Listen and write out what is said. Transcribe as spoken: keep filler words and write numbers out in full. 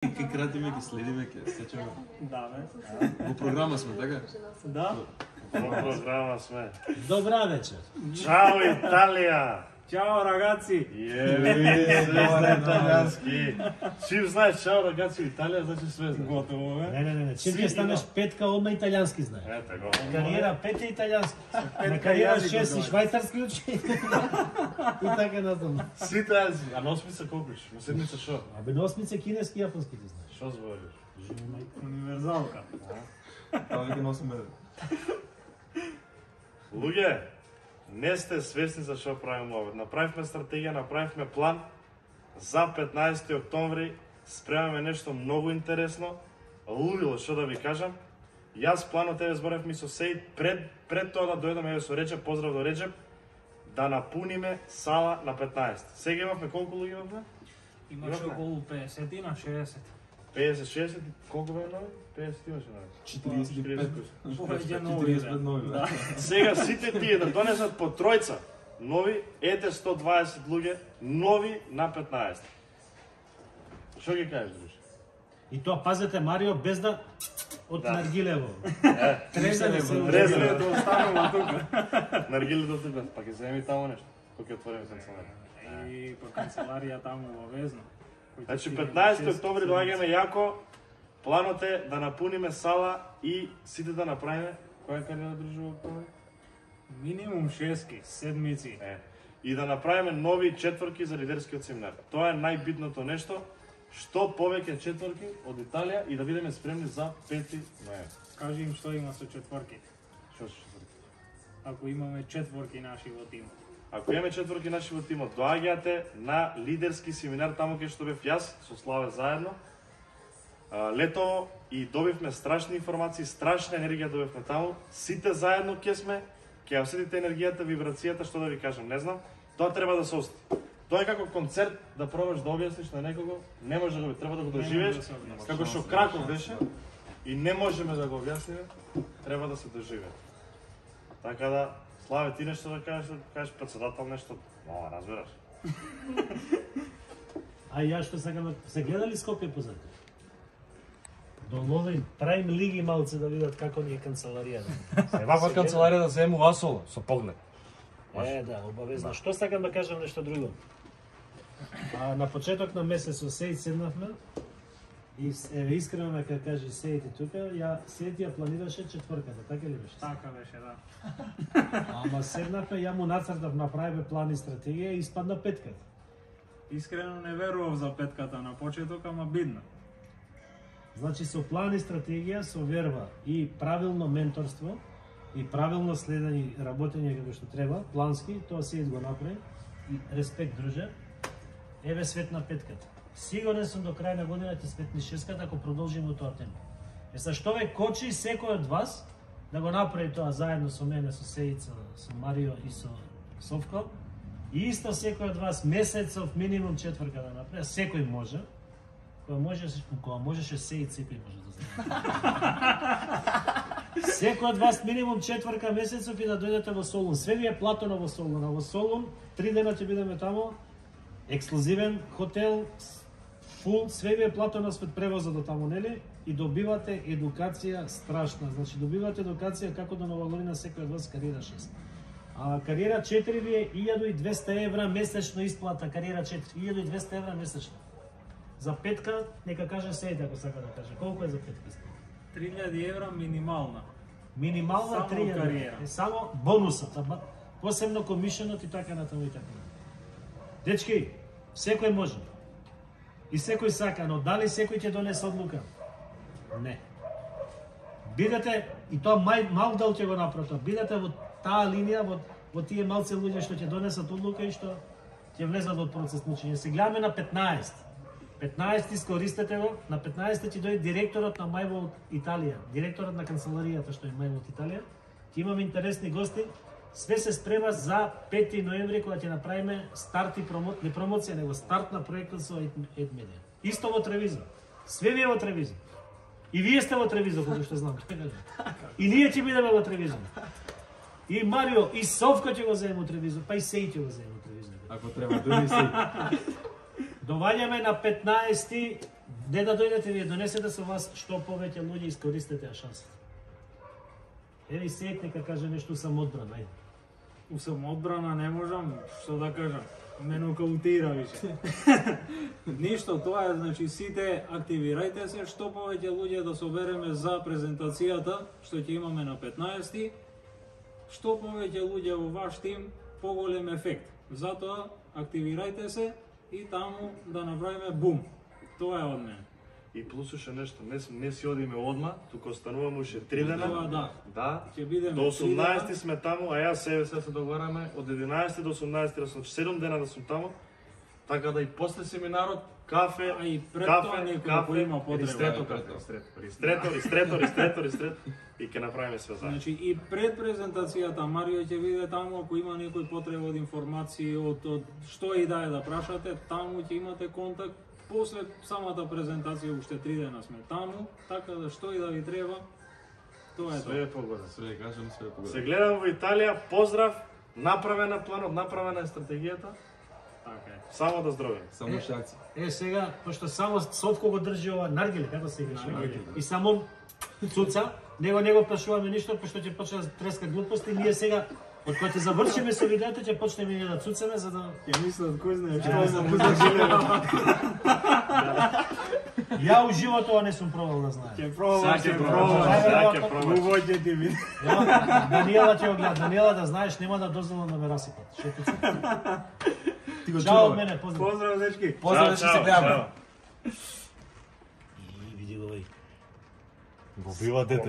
Ке кратиме, ке следиме, ке сечеме. Да, бе. Во програма сме, така? Да. Во програма сме. Добра вечер. Чао Италија! Чао, рагаци! Јеби, све италијански. Чим знаеш чао рагаци Италија, значи све знаеш. Готово, бе. Не, не, не, не. Чим ќе станеш петка, одма италијански знае. Ете го. Кариера пет е италијански. На Петка кариера јазик шест и добро. швајцарски учи. И така натаму. Сите јази. А на осмица колку иш? На седмица шо? А бе на осмица кинески и јапонски ти знаеш. Шо збориш? Универзалка. Тоа веќе носиме. Луѓе, не сте свесни за што правиме ова. Направивме стратегија, направивме план за петнаесети октомври. Спремаме нешто многу интересно. Лудило, што да ви кажам. Јас планот еве зборев ми со Сеид пред пред тоа да дојдеме еве со Реджеп, поздрав до Реджеп, да напуниме сала на петнаесет. Сега имавме колку луѓе имавме? Имаше околу петдесет на шеесет. петдесет шеесет, колку бе нови? петдесет имаше нови. четириесет и пет. Повеќе нови. четириесет и пет нови, да. Сега сите тие да донесат по тројца нови, ете сто дваесет луѓе нови на петнаесет. Што ги кажеш, друже? И тоа пазете Марио без да од Да. наргилево. Е, Трезане се Трезане. удрезане. Да останува тука. наргили до тука, па ќе земи таму нешто. Кога ќе отвориме канцеларија. И по канцеларија таму во Везно. Значи петнаесети октомври доаѓаме јако. Планот е да напуниме сала и сите да направиме која кариера дружи во октомври? Минимум шески, седмици. Е, и да направиме нови четворки за лидерскиот семинар. Тоа е најбитното нешто, што повеќе четворки од Италија и да бидеме спремни за пети ноември. Кажи им што има со четворките. Што се четворки? Ако имаме четворки наши во тимот. Ако имаме четворки наши во тимот, доаѓате на лидерски семинар таму кај што бев јас со Славе заедно. А, Летово и добивме страшни информации, страшна енергија добивме таму. Сите заедно ќе сме, ќе ја осетите енергијата, вибрацијата, што да ви кажам, не знам. Тоа треба да се осети. Тоа е како концерт да пробаш да објасниш на некого, не може да го треба да го доживееш, да се објасни. како што Краков беше и не можеме да го објасниме, треба да се доживее. Така да, Славе, ти нешто да кажеш, да кажеш председател нешто, но разбираш. А ја што сакам да се гледали Скопје позади? Доловим, правим лиги малце да видат како ни е канцеларијата. Ваква канцеларија да зему асола со поглед. Е, да, обавезно. Што сакам да кажам нешто друго? А, на почеток на месец со Сеид седнавме и еве искрено нека кажи Сеид и тука, ја Сеид ја планираше четврката, така ли беше? Така беше, да. Ама седнавме, ја му нацртав, направивме план и стратегија и испадна петката. Искрено не верував за петката на почеток, ама бидно. Значи со план и стратегија, со верба и правилно менторство и правилно следење и работење како што треба, плански, тоа Сеид го направи. И респект, друже. Еве светна петката. Сигурен сум до крај на годината светни шеската ако продолжиме тоа темпо. Е са што ве кочи секој од вас да го направи тоа заедно со мене, со Сеица, со Марио и со Совко. И исто секој од вас месецов минимум четврка да направи, секој може. Кога можеше, кога можеше Сеид, секој може да знае. Секој од вас минимум четврка месецов и да дојдете во Солун. Све ви е платено во Солун. А во Солун три дена ќе бидеме таму. Ексклузивен хотел, фул, све ви е платено свет превозот до таму, нели? И добивате едукација страшна. Значи добивате едукација како да навалори секој од вас кариера шест. А кариера четири ви е илјаду и двесте евра месечно исплата, кариера четири, илјаду и двесте евра месечно. За петка, нека каже Сеид ако сака да каже. Колку е за петка исплата? три илјади евра минимална. Минимална Само три илјади. кариера. Е само бонусот, а ба- посебно комишенот и така натаму и така. Дечки, секој може. И секој сака, но дали секој ќе донесе одлука? Не. Бидете, и тоа мај, мал дел ќе го направи тоа, бидете во таа линија, во, во тие малце луѓе што ќе донесат одлука и што ќе влезат во процес на учење. Се гледаме на петнаесет. петнаесет искористете го, на петнаесет ќе дојде директорот на Мајво од Италија, директорот на канцеларијата што е Мајво од Италија. Ќе имаме интересни гости. Све се спрема за пети ноември кога ќе направиме старт и промоција, не промоција, него старт на проектот со Едмедија. Исто во Тревизо. Све ви е во Тревизо. И вие сте во Тревизо, колку што знам. И ние ќе бидеме во Тревизо. И Марио, и Совко ќе го земе во Тревизо, па и Сеј ќе го земе во Тревизо. Ако треба, дојди се. Доваѓаме на петнаесети Не да дојдете вие, донесете со вас што повеќе луѓе искористете ја шансата. Еви сејт нека каже нешто самоодбрана, ајде. У самоодбрана не можам, што да кажам. Ме нокаутира више. Ништо, тоа е, значи, сите активирајте се, што повеќе луѓе да собереме за презентацијата, што ќе имаме на петнаесети, што повеќе луѓе во ваш тим, поголем ефект. Затоа, активирајте се и таму да направиме бум. Тоа е од мене. И плюс уште нешто, не, не си одиме одма, туку остануваме уште три дена. Тоа да. Да. Ќе бидеме До три дена. осумнаесети сме таму, а јас себе се се договараме од единаесети до осумнаесети, да сум седум дена да сум таму. Така да и после семинарот кафе, А и пред кафе, тоа некој кафе, кој има потреба. ристрето кафе, ристрето, ристрето, ристрето, ристрето, ристрето и ќе направиме све заедно. Значи и пред презентацијата Марио ќе биде таму, ако има некој потреба од информации, од, од што и да е да прашате, таму ќе имате контакт. После самата презентација уште три дена сме таму, така да што и да ви треба, тоа е Све тоа. е погода. Све кажам, све Се погода. гледам во Италија, поздрав, направена планот, направена е стратегијата, Така е. само да здравиме. Само шакци. Е, сега, пошто само Сотко го држи ова наргиле, како се викаше? Наргиле. И само цуца, него не го прашуваме ништо, пошто ќе почне да треска глупости, ние сега, од кога ќе завршиме со видеото, ќе почнеме ние да цуцаме, за да... Ќе мислат кој знае што Ја, за за музика. Ја у живот ова не сум пробал да знае. Ќе пробам, Сега ќе ќе пробам. пробаш, сега ќе пробаш. Увоѓе ти ви. Ја, Даниела ќе го гледа. Даниела, да знаеш, нема да дозволам да ме расипат. Што ти Ти го Чао од чуваме. мене, поздрав. Поздрав, дечки. Поздрав, Чао, че се чао, гледаме. чао. И види го овој. Го бива дете.